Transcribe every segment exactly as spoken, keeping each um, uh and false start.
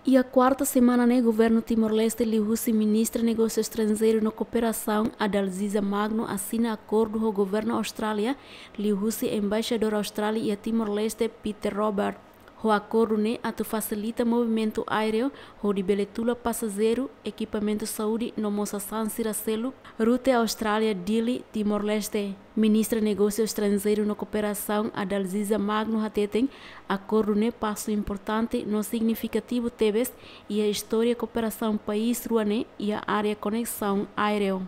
Iha kuarta semana ne'e, Governu Timor-Leste liuhusi Ministra Negósiu Estranjeiru no Kooperasaun, Adalziza Magno, asina akordu ho Governu Austrália liuhusi Embaixadór Austrália iha Timor-Leste, Peter Robert. Ho akordu ne'e atu fasilita movimentu aéreu hodi bele tula pasajeiru, ekipamentu saúde no mós sasán sira seluk, rute Austrália, Dili, Timor-Leste. Ministra Negósiu Estranjeiru no Kooperasaun, Adalziza Magno, hateten akordu ne'e pasu importante no signifikativu tebes iha istória kooperasaun país rua ne'e iha área koneksaun aéreu.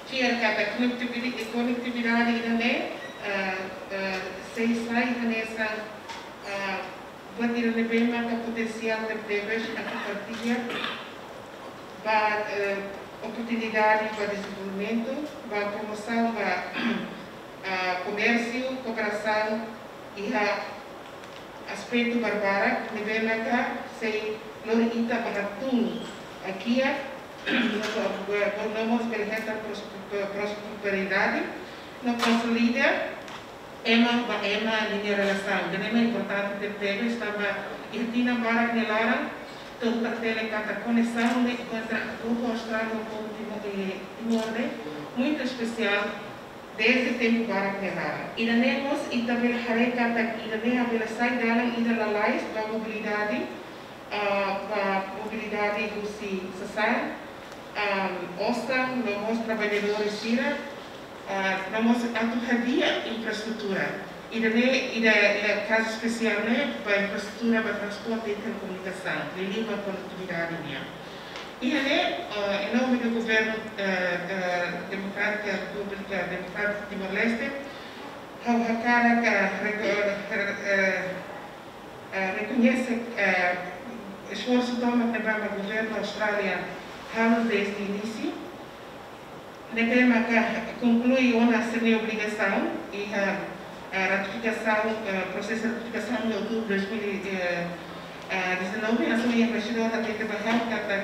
Fiar katak konektivi-, konektividade ida-ne'e, ah, ah, sei sai hanesan, ah, buat ida ne'ebé maka potensiál tebetebes atu partilla ba, eh, oportunidade ba dezenvolvimentu, ba promosaun ba, ah, komérsiu, kooperasaun iha aspetu barbarak ne'ebé maka sei lori ita ba hatún kiak, no, no mós bele hetan prospe-, prosperidade, no konsolida ema ba ema ninia relasaun. Ida-ne'e mak importante tebetebes, tanba iha tinan barak nia laran, to'o ita hatene katak koneksaun ne'e entre povu Austrália ho povu Timor, eh, Timor ne'e muitu espesiál desde tempu barak nia laran. Ida-ne'e mós ita bele haree katak ida-ne'e bele sai dalan ida lalais ba mobilidade, ah, ba mobilidade husi sasán, ah, osan, no mós traballadór sira, ah, no mós atu hadi'a infraestrutura. Ida-ne'e, ida, ida kazu espesiál ne'e ba infraestrutura ba transporte i telekomunikasaun, liuliu ba konektividade nian. Iha ne'e, ah, em nome do governo, eh, eh, Democrática República Democrática Timor-Leste, ha'u hakarak, eh, reko-, eh, eh, eh, rekoñese, eh, esforsu tomak ne'ebé mak governu Austrália halo desde inísiu. Ne'ebé maka konklui ona sira-nia obrigasaun iha, eh, ratifikasaun, eh, prosesu ratifikasaun iha outubru dois mil e, eh, eh, dezanove, hanesan embaixadór hatete ba ha'u katak,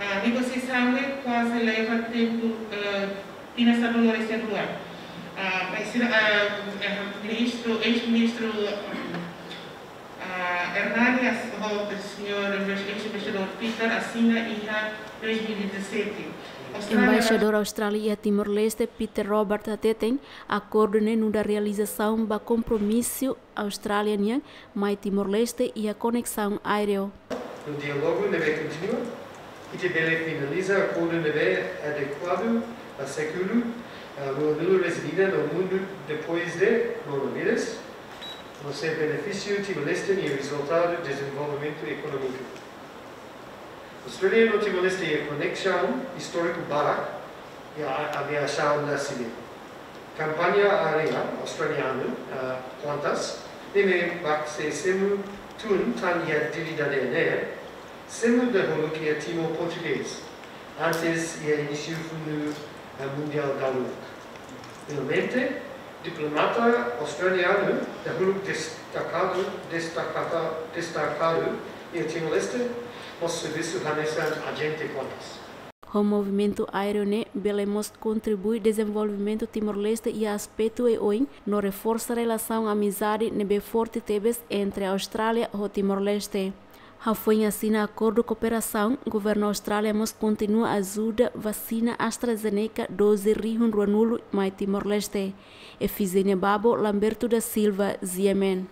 ah, negosiasaun ne'e kuaze leva tempu, eh, tinan sanulu-resin-rua. Ah, mas sira, ah, eh, ministru, eis-ministru, ah, Hernani, as-, ho señór eis-embaixadór Peter asina iha dois mil e dezassete. Austrália Embaixadór Austrália iha Timor-Leste, Peter Robert, hateten akordu ne'e nu'udar realizasaun ba kompromisu Austrália nian mai Timor-Leste iha koneksaun aéreu. No diálogu ne'ebé kontinua, ita bele finaliza akordu ne'ebé adekuadu ba sékulu, ah, ruanulu-resin-ida no mundu depois de koronavírus, no sei benefísiu Timor-Leste nia rezultadu dezenvolvimentu ekonómiku. Austrália no Timor-Leste iha koneksaun istóriku barak, iha a-, aviasaun sivil. Kampaña aérea australianu, ah, Qantas, ne'ebé mak sei semo tun tan iha Dili dadeer ne'e, semo dahuluk iha Timor Portugés, antes iha inísiu Funu, ah, Mundiál dahuluk. Finalmente, diplomata australianu dahuluk destakadu, destakada, destakadu iha Timor-Leste, mós servisu hanesan ajente Qantas. Ho movimentu aéreu ne'e bele mós kontribui dezenvolvimentu Timor-Leste iha aspetu oioin, no reforsa relasaun amizade ne'ebé forte tebes entre Austrália ho Timor-Leste. Hafoin asina akordu kooperasaun, governu Austrália mós kontinua ajuda vasina AstraZeneca doze rihun ruanulu mai Timor-Leste. Efigénia Babo, Lamberto da Silva, G M N.